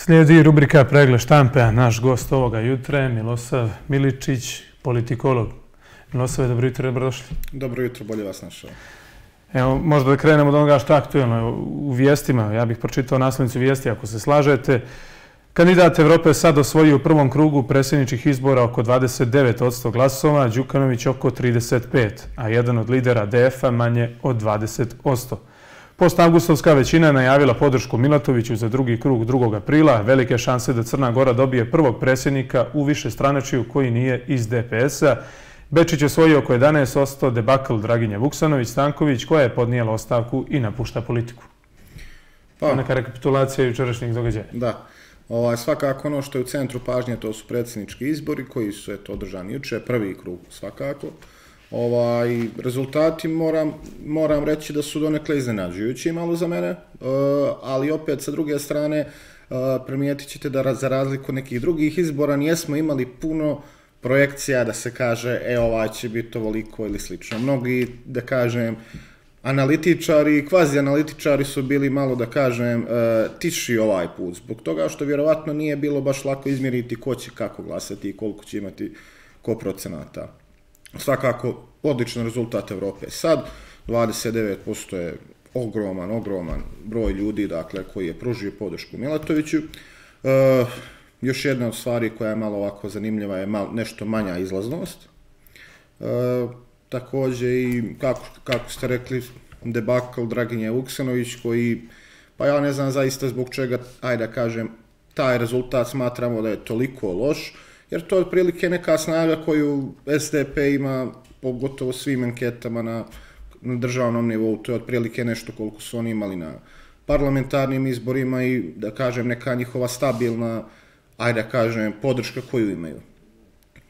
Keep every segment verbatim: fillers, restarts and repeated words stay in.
Slijedi rubrika Pregled štampe, a naš gost ovoga jutra je Milosav Miličić, politikolog. Milosave, dobro jutro, dobrodošli. Dobro jutro, bolje vas našao. Evo, možda da krenemo od onoga što je aktuelno u vijestima. Ja bih pročitao naslovnicu vijesti, ako se slažete. Kandidat Evrope sad osvojio u prvom krugu predsjedničkih izbora oko dvadeset devet posto glasova, Đukanović oko trideset pet, a jedan od lidera D F-a manje od dvadeset posto. Postavgustovska većina je najavila podršku Milatoviću za drugi krug drugog aprila. Velike šanse da Crna Gora dobije prvog predsjednika u višestranačju koji nije iz D P S-a. Bečić je osvojio oko jedanaest posto, debakl Draginje Vuksanović-Stanković, koja je podnijela ostavku i napušta politiku. Pa, neka rekapitulacija jučerašnjih događaja. Da. Ovaj, svakako ono što je u centru pažnje, to su predsjednički izbori koji su eto, održani juče, prvi krug svakako. Ovaj, rezultati moram, moram reći da su donekle iznenađujući malo za mene, uh, ali opet sa druge strane uh, primijetit ćete da za razliku od nekih drugih izbora nijesmo imali puno projekcija da se kaže e ovaj će biti ovoliko ili slično. Mnogi, da kažem, analitičari i kvazi analitičari su bili malo, da kažem, uh, tiši ovaj put, zbog toga što vjerovatno nije bilo baš lako izmjeriti ko će kako glasati i koliko će imati ko procenata. Svakako, odličan rezultat Evrope. Sad, dvadeset devet posto je ogroman, ogroman broj ljudi, dakle, koji je pružio podršku Milatoviću. E, još jedna od stvari koja je malo ovako zanimljiva je malo, nešto manja izlaznost. E, također i, kako, kako ste rekli, debakl Draginje Vuksanović, koji, pa ja ne znam zaista zbog čega, ajde da kažem, taj rezultat smatramo da je toliko loš, jer to je otprilike neka snaga koju S D P ima pogotovo svim anketama na, na državnom nivou. To je otprilike nešto koliko su oni imali na parlamentarnim izborima i, da kažem, neka njihova stabilna, ajde da kažem, podrška koju imaju.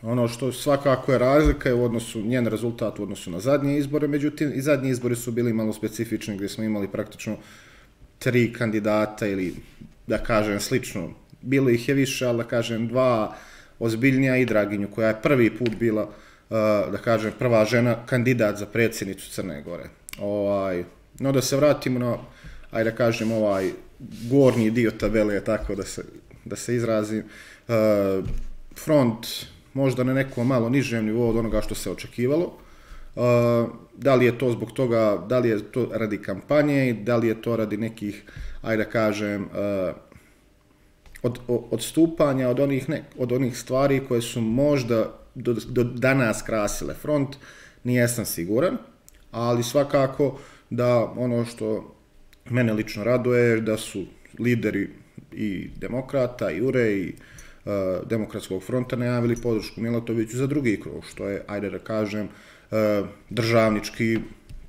Ono što svakako je razlika je u odnosu, njen rezultat u odnosu na zadnje izbore, međutim i zadnji izbori su bili malo specifični gdje smo imali praktično tri kandidata ili, da kažem, slično. Bilo ih je više, ali da kažem, dva ozbiljnija i Draginju, koja je prvi put bila, da kažem, prva žena kandidat za predsjednicu Crne Gore. Ovaj, no da se vratimo na, ajde da kažem, ovaj gornji dio tabele, tako da se, da se izrazim. Front možda na nekom malo nižem nivou od onoga što se očekivalo. Da li je to zbog toga, da li je to radi kampanje, da li je to radi nekih, ajde da kažem, Od, odstupanja od onih, ne, od onih stvari koje su možda do, do danas krasile front, nijesam siguran, ali svakako da ono što mene lično raduje da su lideri i demokrata i U R E i uh, demokratskog fronta najavili podršku Milatoviću za drugi krug, što je, ajde da kažem, uh, državnički,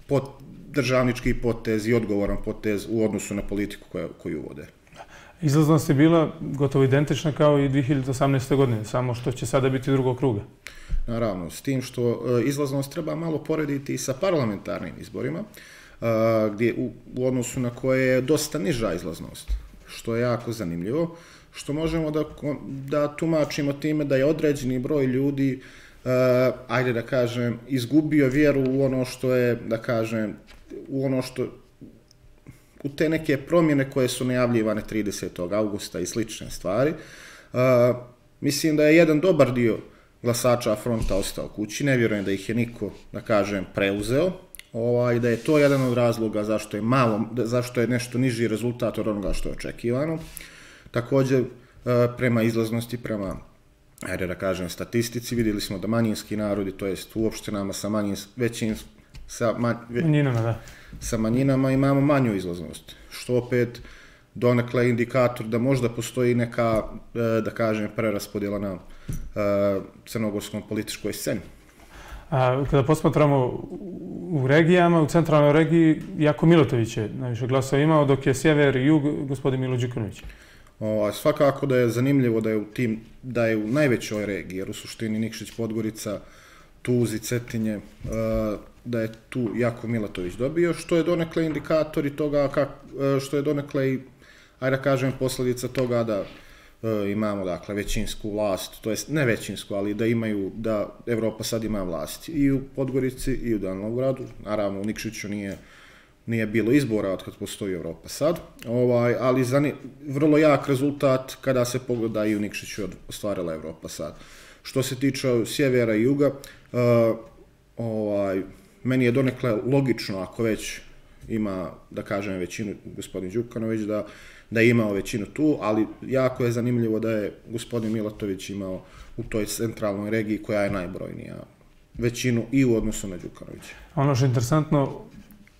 pot, državnički potez i odgovoran potez u odnosu na politiku koju, koju vode. Izlaznost je bila gotovo identična kao i dvije hiljade osamnaeste. godine, samo što će sada biti drugog kruga. Naravno, s tim što izlaznost treba malo porediti i sa parlamentarnim izborima, gdje u, u odnosu na koje je dosta niža izlaznost, što je jako zanimljivo, što možemo da, da tumačimo time da je određeni broj ljudi, ajde da kažem, izgubio vjeru u ono što je, da kažem, u ono što u te neke promjene koje su najavljivane tridesetog augusta i slične stvari. Uh, mislim da je jedan dobar dio glasača fronta ostao kući, ne vjerujem da ih je niko, da kažem, preuzeo, ovaj, da je to jedan od razloga zašto je malo, zašto je nešto niži rezultat od onoga što je očekivano. Također, uh, prema izlaznosti, prema, ajde da kažem, statistici, vidjeli smo da manjinski narodi, to jest u opštinama sa manjins, većin, sa man, ve, manjinama, da. sa manjinama imamo manju izlaznost, što opet donekle indikator da možda postoji neka, da kažem, preraspodjela na crnogorskom političkoj sceni. A kada posmatramo u regijama, u centralnoj regiji, Jako Milatović je najviše glasova imao, dok je sjever i jug gospodin Milo Đukanović. O, svakako da je zanimljivo da je u tim, da je u najvećoj regiji, jer u suštini Nikšić, Podgorica, Tuzi, Cetinje, da je tu Jako Milatović dobio, što je donekle indikator i toga, kak, što je donekle i, ajde da kažem, posljedica toga da e, imamo, dakle, većinsku vlast, to jest ne većinsku, ali da imaju, da Evropa sad ima vlast i u Podgorici i u Danilogradu, naravno u Nikšiću nije nije bilo izbora od kad postoji Evropa sad, ovaj, ali zani, vrlo jak rezultat kada se pogleda i u Nikšiću ostvarila Evropa sad. Što se tiče sjevera i juga, uh, ovaj, meni je donekle logično ako već ima, da kažem, većinu gospodin Đukanović, da, da je imao većinu tu, ali jako je zanimljivo da je gospodin Milatović imao u toj centralnoj regiji koja je najbrojnija većinu i u odnosu na Đukanovića. Ono što je interesantno,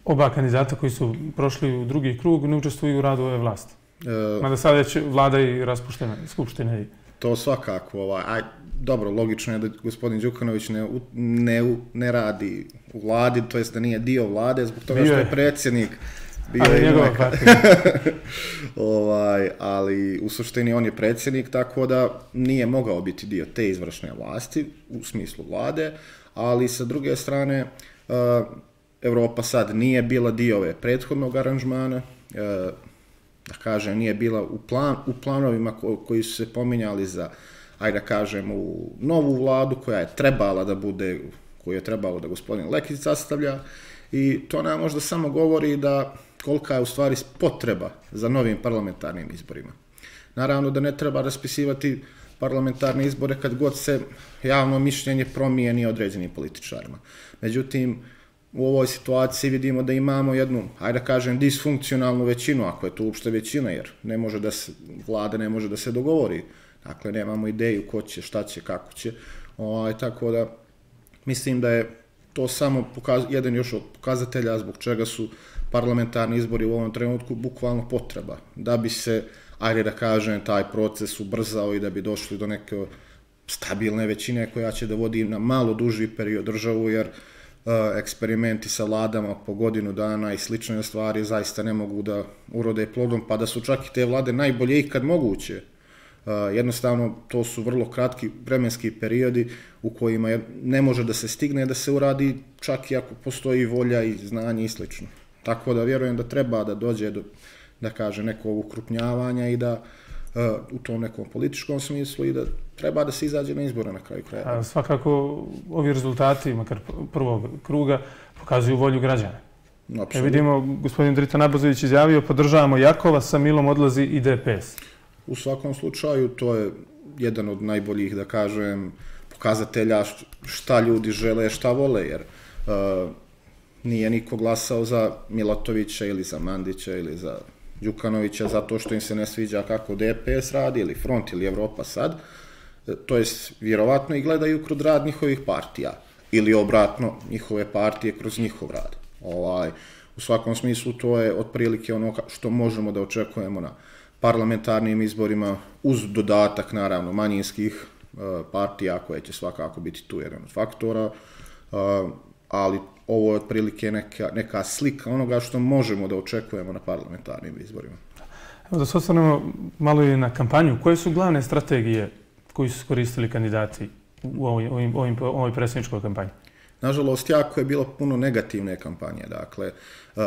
oba kandidata koji su prošli u drugi krug ne učestvuju u radu ove vlasti. E, Mada sad već vlada i raspuštena skupštine. To svakako. Ovaj, aj, dobro, logično je da gospodin Đukanović ne, ne, ne radi u vladi, to jest da nije dio vlade, zbog toga bio što je predsjednik. Bio ali je njegova partija. ovaj, ali u suštini on je predsjednik, tako da nije mogao biti dio te izvršne vlasti u smislu vlade, ali sa druge strane uh, Evropa sad nije bila dio ove prethodnog aranžmana, uh, da kažem, nije bila u, plan, u planovima ko, koji su se pominjali za, ajde da kažem, u novu vladu koja je trebala da bude, koju je trebalo da gospodin Lekić sastavlja, i to nam možda samo govori da kolika je u stvari potreba za novim parlamentarnim izborima. Naravno da ne treba raspisivati parlamentarne izbore kad god se javno mišljenje promijeni određenim političarima. Međutim, u ovoj situaciji vidimo da imamo jednu, ajde da kažem, disfunkcionalnu većinu, ako je to uopšte većina, jer ne može da se, vlada ne može da se dogovori. Dakle, nemamo ideju ko će, šta će, kako će. O, tako da, mislim da je to samo pokaz, jedan još od pokazatelja zbog čega su parlamentarni izbori u ovom trenutku bukvalno potreba, da bi se, ajde da kažem, taj proces ubrzao i da bi došli do neke stabilne većine koja će da vodi na malo duži period državu, jer uh, eksperimenti sa vladama po godinu dana i slične stvari zaista ne mogu da urode plodom, pa da su čak i te vlade najbolje ikad moguće. Uh, jednostavno, to su vrlo kratki vremenski periodi u kojima je, ne može da se stigne da se uradi, čak i ako postoji volja i znanje i slično. Tako da vjerujem da treba da dođe do, da kaže, nekog ukrupnjavanja i da uh, u tom nekom političkom smislu i da treba da se izađe na izbore na kraju kraja. Svakako ovi rezultati, makar prvog kruga, pokazuju volju građana. E, vidimo, gospodin Drita Nabazović izjavio, podržavamo Jakova, sa Milom odlazi i D P S. U svakom slučaju, to je jedan od najboljih, da kažem, pokazatelja šta ljudi žele, šta vole, jer uh, nije niko glasao za Milatovića ili za Mandića ili za Đukanovića zato što im se ne sviđa kako D P S radi ili Front ili Evropa sad. To jest, vjerovatno i gledaju kroz rad njihovih partija ili obratno njihove partije kroz njihov rad. Ovaj, u svakom smislu to je otprilike ono što možemo da očekujemo na parlamentarnim izborima uz dodatak naravno manjinskih uh, partija koje će svakako biti tu jedan od faktora, uh, ali ovo je otprilike neka, neka slika onoga što možemo da očekujemo na parlamentarnim izborima. Evo da se osvrnemo malo i na kampanju. Koje su glavne strategije koji su koristili kandidati u ovoj, ovim, ovim, ovoj predsjedničkoj kampanji? Nažalost, jako je bilo puno negativne kampanje. Dakle, uh,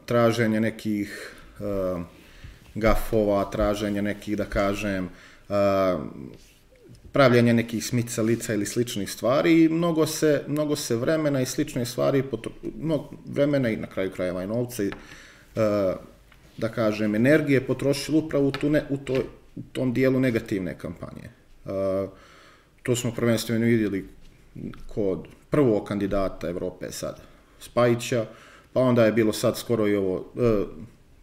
traženje nekih uh, gafova, traženje nekih, da kažem, uh, pravljanje nekih smicalica ili sličnih stvari i mnogo se, mnogo se vremena i slične stvari, mnogo vremena i na kraju krajeva i novca i, uh, da kažem, energije potrošili upravo u, tu ne, u, to, u tom dijelu negativne kampanje. Uh, to smo prvenstveno vidjeli kod prvog kandidata Evrope sad, Spajića, pa onda je bilo sad skoro i ovo, uh,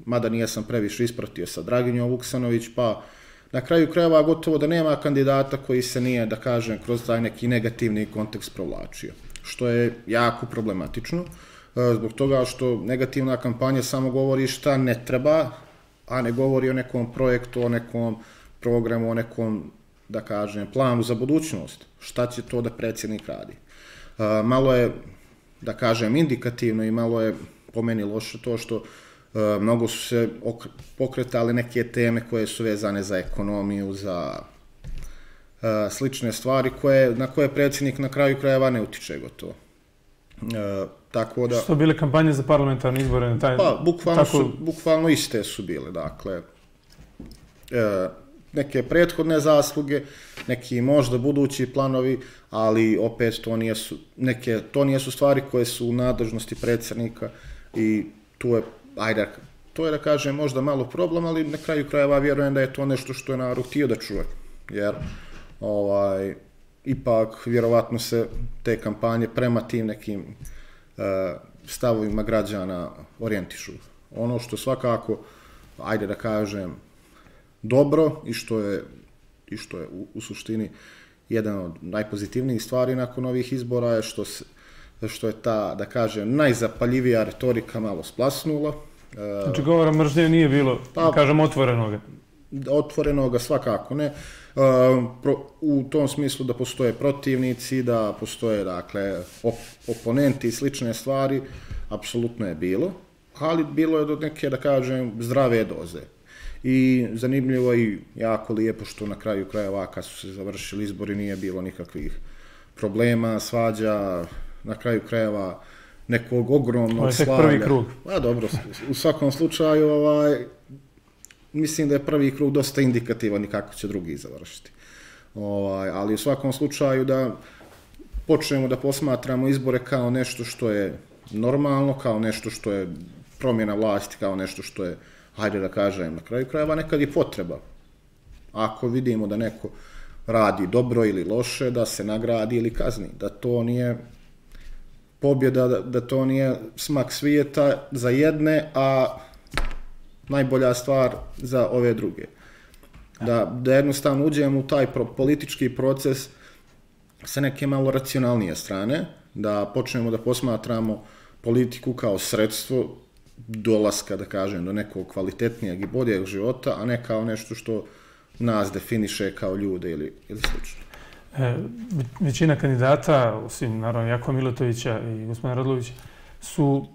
mada nijesam previše ispratio sa Draginjom Vuksanović, pa na kraju krajeva gotovo da nema kandidata koji se nije, da kažem, kroz taj neki negativni kontekst provlačio, što je jako problematično, zbog toga što negativna kampanja samo govori šta ne treba, a ne govori o nekom projektu, o nekom programu, o nekom, da kažem, planu za budućnost, šta će to da predsjednik radi. Malo je, da kažem, indikativno i malo je po meni loše to što Uh, mnogo su se pokretali neke teme koje su vezane za ekonomiju, za uh, slične stvari koje, na koje predsjednik na kraju krajeva ne utiče gotovo. Uh, tako da, što bile kampanje za parlamentarne izbore? Na taj, pa, bukvalno, tako... su, bukvalno iste su bile. Dakle, uh, neke prethodne zasluge, neki možda budući planovi, ali opet to nijesu, neke, to nijesu stvari koje su u nadležnosti predsjednika i tu je, ajde, to je da kažem možda malo problem, ali na kraju krajeva vjerujem da je to nešto što je narod htio da čuje, jer ovaj, ipak vjerovatno se te kampanje prema tim nekim uh, stavovima građana orijentišu. Ono što svakako, ajde da kažem, dobro i što je, i što je u, u suštini jedan od najpozitivnijih stvari nakon ovih izbora je što, se, što je ta, da kažem, najzapaljivija retorika malo splasnula. Znači govora mržnje nije bilo, pa, da kažem, otvorenoga? Otvorenoga svakako ne. U tom smislu da postoje protivnici, da postoje, dakle, op oponenti i slične stvari, apsolutno je bilo, ali bilo je do neke, da kažem, zdrave doze. I zanimljivo i jako lijepo što na kraju krajeva kad su se završili izbori nije bilo nikakvih problema, svađa, na kraju krajeva nekog ogromnog slavlja. Ovo je prvi krug. A dobro, u svakom slučaju ovaj, mislim da je prvi krug dosta indikativan i kako će drugi završiti. Ovaj, ali u svakom slučaju da počnemo da posmatramo izbore kao nešto što je normalno, kao nešto što je promjena vlasti, kao nešto što je, hajde da kažem, na kraju krajeva nekad je potreba. Ako vidimo da neko radi dobro ili loše, da se nagradi ili kazni, da to nije pobjeda, da, da to nije smak svijeta za jedne, a najbolja stvar za ove druge. Da, da jednostavno uđemo u taj pro, politički proces sa neke malo racionalnije strane, da počnemo da posmatramo politiku kao sredstvo dolaska, da kažem, do nekog kvalitetnijeg i boljeg života, a ne kao nešto što nas definiše kao ljude ili, ili slično. E, većina kandidata, osim naravno Jakova Milatovića i gospodina Radlovića, su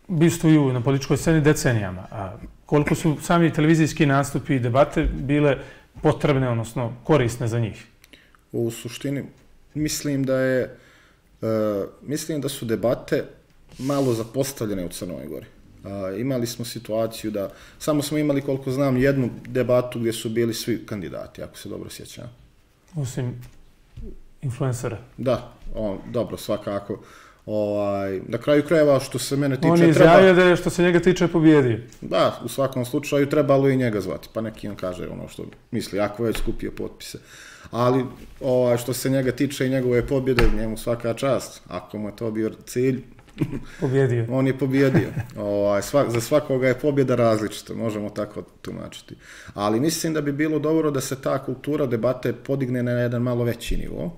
bistuju na političkoj sceni decenijama. A koliko su sami televizijski nastupi i debate bile potrebne, odnosno korisne za njih? U suštini, mislim da je, uh, mislim da su debate malo zapostavljene u Crnoj Gori. Uh, imali smo situaciju da, samo smo imali, koliko znam, jednu debatu gdje su bili svi kandidati, ako se dobro sjećam. Osim influencera. Da, on, dobro, svakako. Ovaj, na kraju krajeva, što se mene tiče... On je izjavio da je, što se njega tiče, pobjedio. Da, u svakom slučaju trebalo i njega zvati, pa neki on kaže ono što misli, ako već skupio potpise. Ali ovaj, što se njega tiče i njegove pobjede, njemu svaka čast. Ako mu je to bio cilj, pobjedio. On je pobjedio. Ovaj, svak, za svakoga je pobjeda različita, možemo tako tumačiti. Ali mislim da bi bilo dobro da se ta kultura debate podigne na jedan malo veći nivo,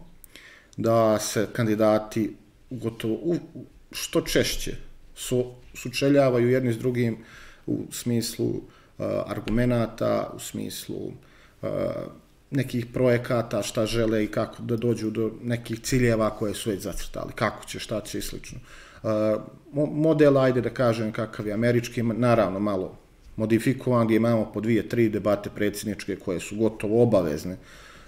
da se kandidati gotovo u, što češće su, sučeljavaju jedni s drugim u smislu uh, argumenata, u smislu uh, nekih projekata, šta žele i kako da dođu do nekih ciljeva koje su već zacrtali, kako će, šta će i slično. Uh, model, ajde da kažem kakav je američki, naravno malo modifikovan, gdje imamo po dvije, tri debate predsjedničke koje su gotovo obavezne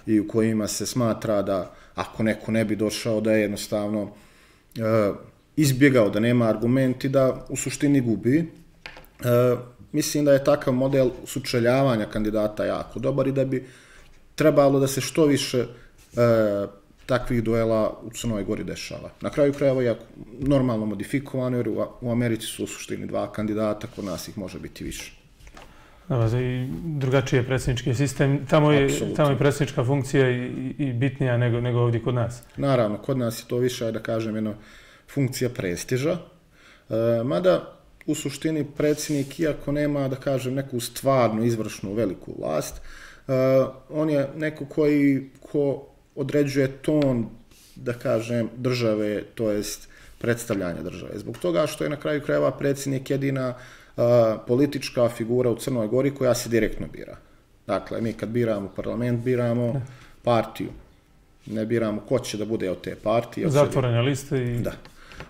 i u kojima se smatra da ako neko ne bi došao da je jednostavno uh, izbjegao, da nema argumenti, da u suštini gubi. Uh, mislim da je takav model sučeljavanja kandidata jako dobar i da bi trebalo da se što više uh, takvih duela u Crnoj Gori dešava. Na kraju krajeva je normalno modifikovano, jer u Americi su u suštini dva kandidata, kod nas ih može biti više. Da, i drugačiji je predsjednički sistem. Tamo je, tamo je predsjednička funkcija i, i bitnija nego, nego ovdje kod nas. Naravno, kod nas je to više, da kažem, jedna funkcija prestiža. E, mada, u suštini, predsjednik, iako nema, da kažem, neku stvarnu, izvršnu, veliku vlast, e, on je neko koji ko određuje ton, da kažem, države, to jest predstavljanja države. Zbog toga što je na kraju krajeva predsjednik jedina uh, politička figura u Crnoj Gori koja se direktno bira. Dakle, mi kad biramo parlament, biramo partiju. Ne biramo ko će da bude od te partije. Zatvorene liste i... Da.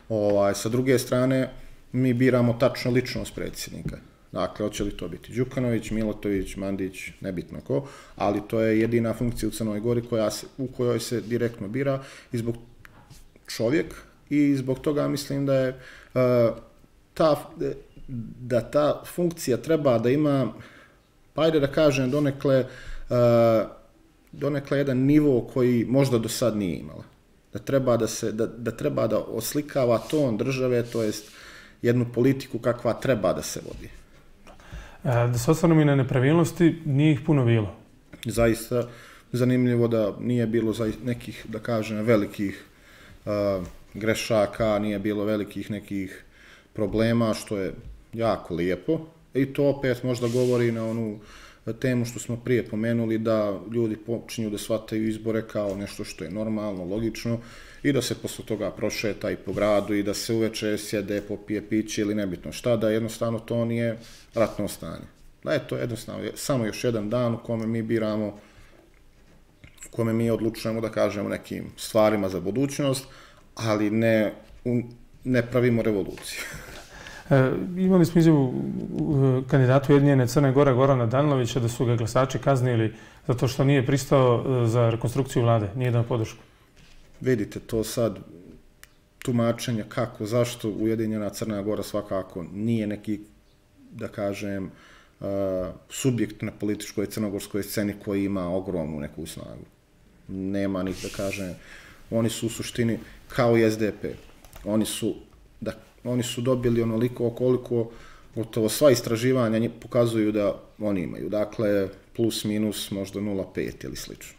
Ovaj, sa druge strane, mi biramo tačno ličnost predsjednika. Dakle, hoće li to biti Đukanović, Milatović, Mandić, nebitno ko, ali to je jedina funkcija u Crnoj Gori koja se, u kojoj se direktno bira i zbog čovjek i zbog toga mislim da je uh, ta, da ta funkcija treba da ima, pa ajde da kažem, donekle, uh, donekle jedan nivo koji možda do sad nije imala. Da treba da, se, da, da treba da oslikava ton države, to jest jednu politiku kakva treba da se vodi. Da se osvrnemo i na nepravilnosti, nije ih puno bilo. Zaista zanimljivo da nije bilo nekih, da kažem, velikih uh, grešaka, nije bilo velikih nekih problema, što je jako lijepo. I to opet možda govori na onu temu što smo prije pomenuli, da ljudi počinju da shvataju izbore kao nešto što je normalno, logično, i da se posle toga prošeta i po gradu i da se uveče sjede, popije piće ili nebitno šta, da jednostavno to nije ratno stanje. Da je to jednostavno samo još jedan dan u kome mi biramo, u kome mi odlučujemo da kažemo nekim stvarima za budućnost, ali ne, ne pravimo revoluciju. E, imali smo izjavu kandidatu Ujedinjene Crne Gore Gorana Danilovića da su ga glasači kaznili zato što nije pristao za rekonstrukciju vlade, nije dao podršku. Vidite, to sad tumačenje kako, zašto Ujedinjena Crna Gora svakako nije neki, da kažem, uh, subjekt na političkoj crnogorskoj sceni koji ima ogromnu neku snagu. Nema njih, da kažem, oni su u suštini kao i S D P. Oni su, da, oni su dobili onoliko koliko gotovo sva istraživanja pokazuju da oni imaju. Dakle, plus minus možda nula zarez pet ili slično.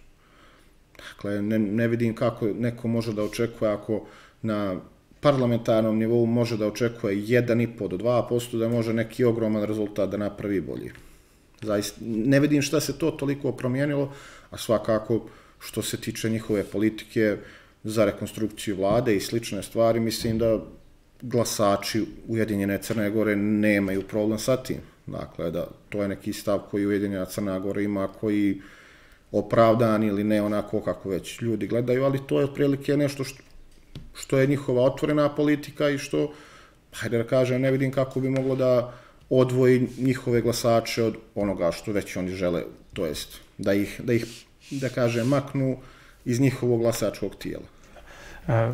Dakle, ne, ne vidim kako neko može da očekuje ako na parlamentarnom nivou može da očekuje jedan i po do dva posto da može neki ogroman rezultat da napravi bolji. Zaista, ne vidim šta se to toliko promijenilo, a svakako što se tiče njihove politike za rekonstrukciju vlade i slične stvari, mislim da glasači Ujedinjene Crne Gore nemaju problem sa tim. Dakle, da to je neki stav koji Ujedinjena Crna Gora ima, koji opravdan ili ne onako kako već ljudi gledaju, ali to je otprilike nešto što, što je njihova otvorena politika i što, hajde da kažem, ne vidim kako bi moglo da odvoji njihove glasače od onoga što već oni žele, to jest da ih, da ih, da kažem, maknu iz njihovog glasačkog tijela. E,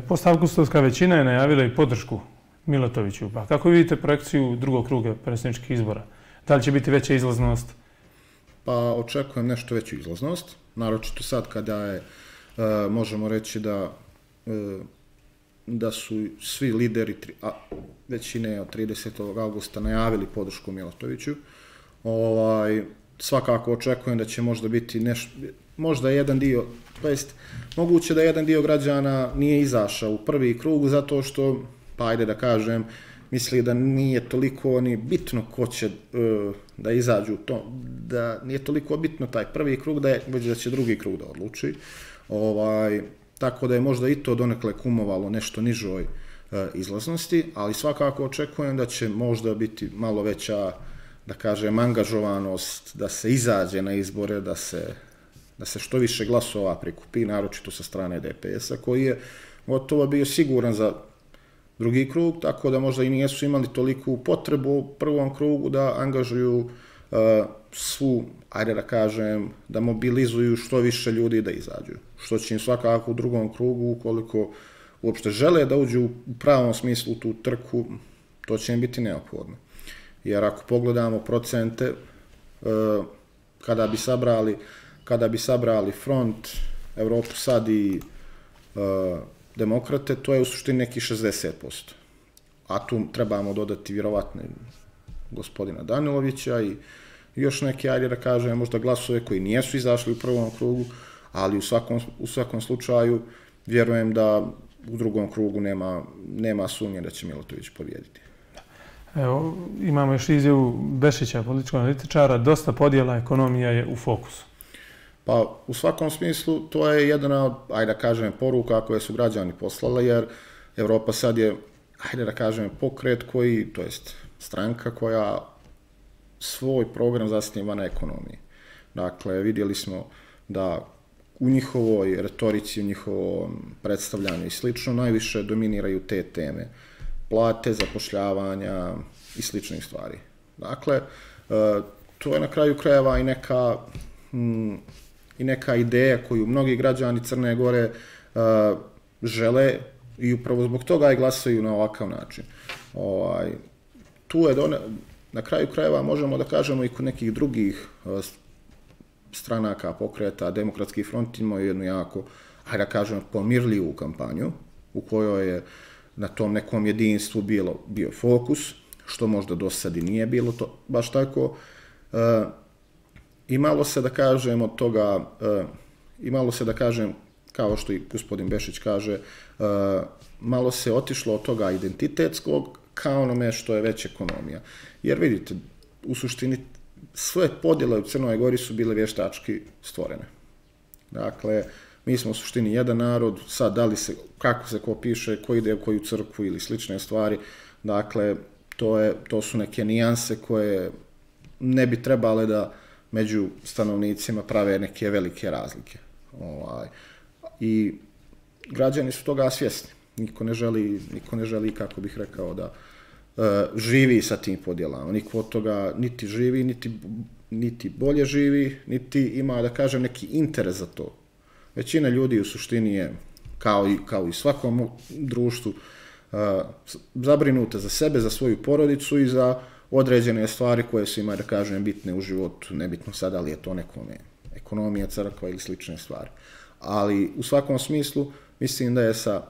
Postavkustovska većina je najavila i podršku Milatoviću. Pa kako vidite projekciju drugog kruga predsjedničkih izbora? Da li će biti veća izlaznost? Pa očekujem nešto veću izlaznost, naročito sad kada je, e, možemo reći da, e, da su svi lideri, a, većine od tridesetog augusta najavili podršku Milatoviću. Ovaj, svakako očekujem da će možda biti nešto, možda jedan dio, to jest moguće da jedan dio građana nije izašao u prvi krug zato što, pa ajde da kažem, misli da nije toliko ni bitno ko će uh, da izađu to, da nije toliko bitno taj prvi krug, da je, već da će drugi krug da odluči. Ovaj, tako da je možda i to donekle kumovalo nešto nižoj uh, izlaznosti, ali svakako očekujem da će možda biti malo veća, da kažem, angažovanost, da se izađe na izbore, da se, da se što više glasova prikupi, naročito sa strane D P S-a, koji je gotovo bio siguran za drugi krug, tako da možda i nisu imali toliku potrebu u prvom krugu da angažuju uh, svu, ajde da kažem, da mobilizuju što više ljudi da izađu. Što će im svakako u drugom krugu, ukoliko uopšte žele da uđu u pravom smislu u tu trku, to će im biti neophodno. Jer ako pogledamo procente, uh, kada bi sabrali, kada bi sabrali Front, Evropu sad i uh, Demokrate, to je u suštini neki šezdeset posto. A tu trebamo dodati vjerovatno gospodina Danilovića i još neke, ajde da kažem, možda glasove koji nijesu izašli u prvom krugu, ali u svakom, u svakom slučaju vjerujem da u drugom krugu nema, nema sumnje da će Milatović pobijediti. Evo, imamo još izjavu Bešića, političkog analitičara, dosta podjela, ekonomija je u fokusu. Pa u svakom smislu to je jedna od, ajde da kažem, poruka koje su građani poslali, jer Evropa sad je, ajde da kažem, pokret koji, to jest stranka koja svoj program zasniva na ekonomiji. Dakle, vidjeli smo da u njihovoj retorici, u njihovom predstavljanju i slično, najviše dominiraju te teme. Plate, zapošljavanja i sličnih stvari. Dakle, to je na kraju krajeva i neka... Hmm, i neka ideja koju mnogi građani Crne Gore uh, žele i upravo zbog toga i glasaju na ovakav način. Ovaj, tu je done, na kraju krajeva možemo da kažemo i kod nekih drugih uh, stranaka, pokreta, Demokratski front imao jednu jako, hajde da kažemo, pomirljivu kampanju u kojoj je na tom nekom jedinstvu bilo, bio fokus, što možda do sad i nije bilo to baš tako. Uh, imalo se da kažem od toga, uh, imalo se da kažem, kao što i gospodin Bešić kaže, uh, malo se otišlo od toga identitetskog kao onome što je već ekonomija. Jer vidite, u suštini sve podjele u Crnoj Gori su bile vještački stvorene. Dakle, mi smo u suštini jedan narod, sad da li se, kako se ko piše, ko ide u koju crkvu ili slične stvari, dakle, to, je, to su neke nijanse koje ne bi trebale da među stanovnicima prave neke velike razlike. Ovaj, i građani su toga svjesni. Niko ne želi, niko ne želi, kako bih rekao, da uh, živi sa tim podjelama. Niko od toga niti živi, niti, niti bolje živi, niti ima, da kažem, neki interes za to. Većina ljudi u suštini je, kao i, kao i svakom društvu, uh, zabrinuta za sebe, za svoju porodicu i za određene stvari koje su ima, da kažem, bitne u životu. Nebitno sad, ali je to nekome ekonomija, crkva ili slične stvari. Ali u svakom smislu mislim da je sa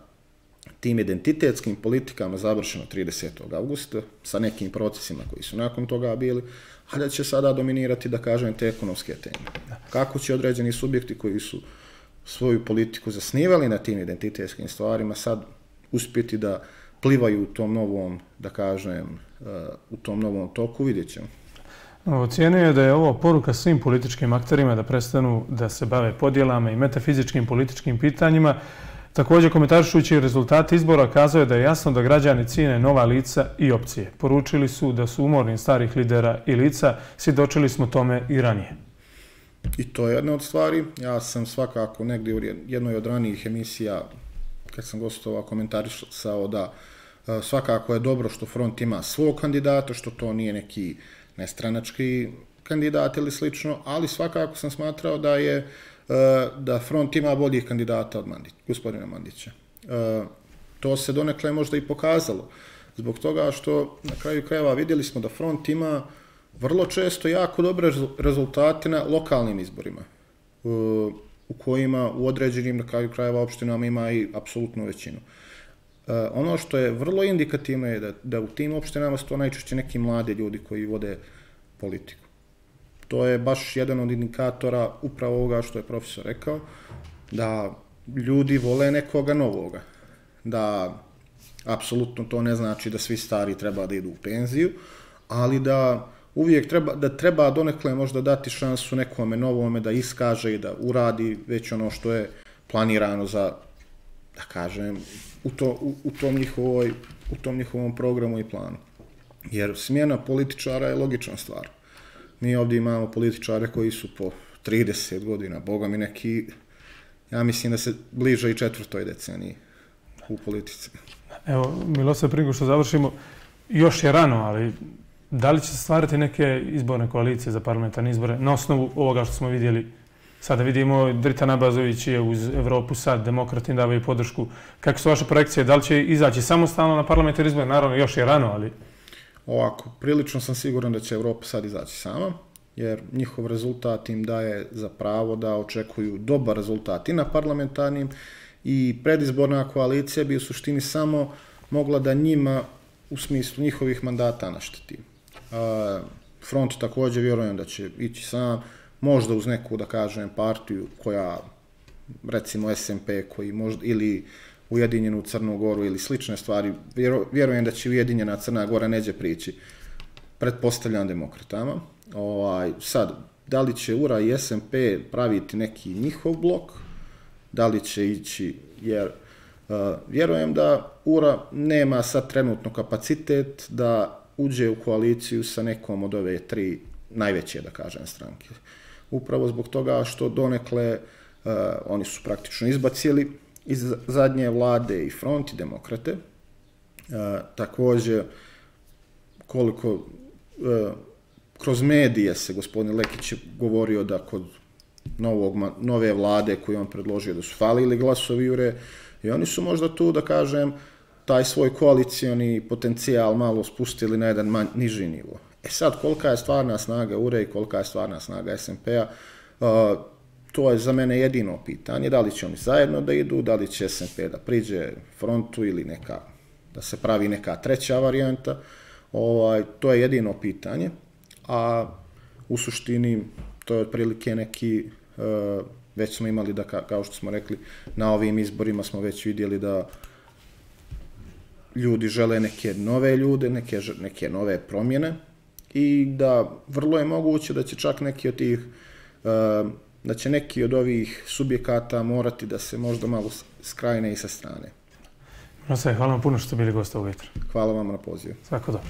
tim identitetskim politikama završeno tridesetog avgusta, sa nekim procesima koji su nakon toga bili, a da će sada dominirati, da kažem, te ekonomske teme. Kako će određeni subjekti koji su svoju politiku zasnivali na tim identitetskim stvarima sad uspjeti da plivaju u tom novom, da kažem, u tom novom toku, vidjet ćemo. Ocijenio je da je ovo poruka svim političkim akterima da prestanu da se bave podjelama i metafizičkim političkim pitanjima. Također, komentarišući rezultate izbora, kazao je da je jasno da građani cijene nova lica i opcije. Poručili su da su umorni starih lidera i lica, svjedočili smo tome i ranije. I to je jedna od stvari. Ja sam svakako negdje u jednoj od ranijih emisija, kad sam gostovao, komentarisao da svakako je dobro što Front ima svog kandidata, što to nije neki nestranački kandidat ili slično, ali svakako sam smatrao da je da Front ima boljih kandidata od Mandića, gospodina Mandića. To se donekle možda i pokazalo, zbog toga što na kraju krajeva vidjeli smo da Front ima vrlo često jako dobre rezultate na lokalnim izborima, u kojima u određenim, na kraju krajeva, opštinama ima i apsolutnu većinu. Ono što je vrlo indikativno je da, da u tim opštinama su to najčešće neki mladi ljudi koji vode politiku. To je baš jedan od indikatora upravo ovoga što je profesor rekao, da ljudi vole nekoga novoga. Da apsolutno to ne znači da svi stari treba da idu u penziju, ali da uvijek treba, da treba donekle možda dati šansu nekome novome da iskaže i da uradi već ono što je planirano za, da kažem, u, to, u, u, tom njihovoj, u tom njihovom programu i planu. Jer smjena političara je logična stvar. Mi ovdje imamo političare koji su po trideset godina, boga mi neki, ja mislim da se bliže i četvrtoj deceniji u politici. Evo, Milosav, prije što završimo, još je rano, ali da li će se stvarati neke izborne koalicije za parlamentarne izbore na osnovu ovoga što smo vidjeli? Sada vidimo, Dritan Abazović je uz Evropu sad, demokrati davaju podršku. Kako su vaše projekcije? Da li će izaći samostalno na parlamentarne izbore? Naravno, još je rano, ali... Ovako, prilično sam siguran da će Evropa sad izaći sama, jer njihov rezultat im daje za pravo da očekuju dobar rezultat i na parlamentarnim, i predizborna koalicija bi u suštini samo mogla da njima u smislu njihovih mandata našteti. Front također vjerujem da će ići sam, možda uz neku, da kažem, partiju koja, recimo S M P, koji možda, ili Ujedinjenu Crnu Goru ili slične stvari, vjerujem da će Ujedinjena Crna Gora neđe prići, pretpostavljam demokratama. Ovaj, sad, da li će U R A i S M P praviti neki njihov blok, da li će ići, jer uh, vjerujem da U R A nema sad trenutno kapacitet da uđe u koaliciju sa nekom od ove tri najveće, da kažem, stranke. Upravo zbog toga što donekle uh, oni su praktično izbacili iz zadnje vlade i Front i demokrate. Uh, također, koliko uh, kroz medije se gospodin Lekić govorio da kod novog, nove vlade koju on predložio da su falili glasovi U R A i oni su možda tu, da kažem, taj svoj koalicioni potencijal malo spustili na jedan manj, niži nivo. E sad, kolika je stvarna snaga U R A i kolika je stvarna snaga S M P-a, uh, to je za mene jedino pitanje, da li će oni zajedno da idu, da li će S M P da priđe Frontu ili neka da se pravi neka treća varijanta, ovaj, to je jedino pitanje, a u suštini to je otprilike neki, uh, već smo imali da, kao što smo rekli, na ovim izborima smo već vidjeli da ljudi žele neke nove ljude, neke, neke nove promjene i da vrlo je moguće da će čak neki od tih, uh, da će neki od ovih subjekata morati da se možda malo skrajne i sa strane. Hvala vam puno što ste bili gost ovog jutra. Hvala vam na pozivu. Svako dobro.